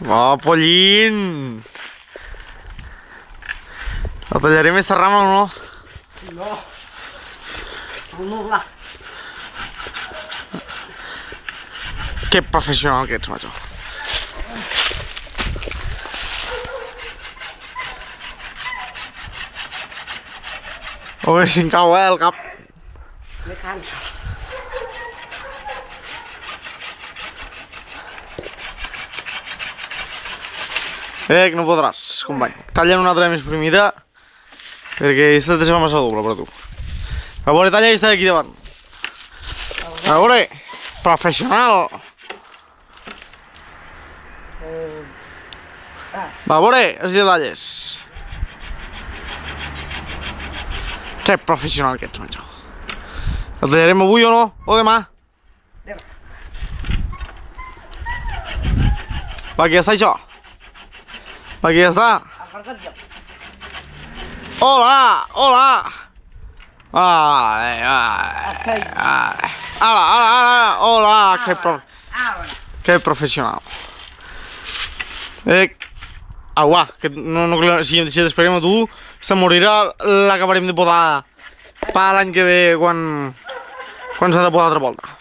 Oh, pollín! La tallaré més rama o no? No. No, va. Que professional que ets, macho. A veure si em cau, el cap. Me canso. Que no podràs, company. Talla una altra més primida, perquè aquesta te se va massa doble per a tu. A veure, talla aquesta d'aquí davant. A veure, professional. Va, a veure, els talles. Que professional que ets, macho. El tallarem avui o no? O demà? Demà. Va, aquí ja està això. Va, aquí ja està. Aparta't jo. Hola, hola. Vale. Hola, que professional. Aguà, que si t'esperem a tu, se morirà, l'acabarem de podar per l'any que ve quan s'ha de podar altra volta.